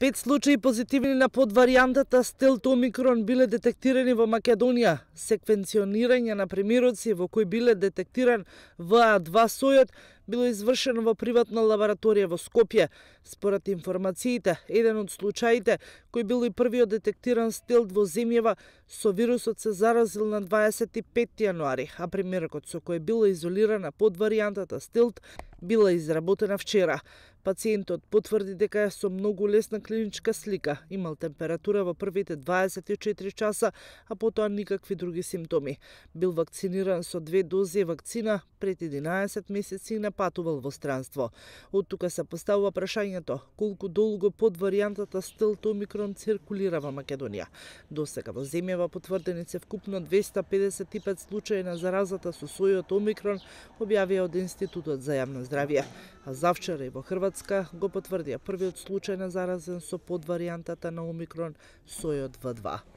5 случаи позитивни на подваријантата стелт Омикрон биле детектирани во Македонија. Секвенционирање на примероци во кои биле детектиран ВА2 сојот било извршено во приватна лабораторија во Скопје. Според информациите, еден од случаите кој бил и првиот детектиран стелт во земјава со вирусот се заразил на 25 јануари, а примерокот со кој била изолирана подваријантата стелт била изработена вчера. Пациентот потврди дека е со многу лесна клиничка слика, имал температура во првите 24 часа, а потоа никакви други симптоми. Бил вакциниран со 2 дози вакцина пред 11 месеци и не патувал во странство. Од тука се поставува прашањето колку долго подваријантата стелт Омикрон циркулира во Македонија. Досега во земјава потврдени се вкупно 255 случаи на заразата со сојот Омикрон, објавија од Институтот за јавно здравје. А завчера и во Хрватска го потврдија првиот случај на заразен со подваријантата на Омикрон сојот В2.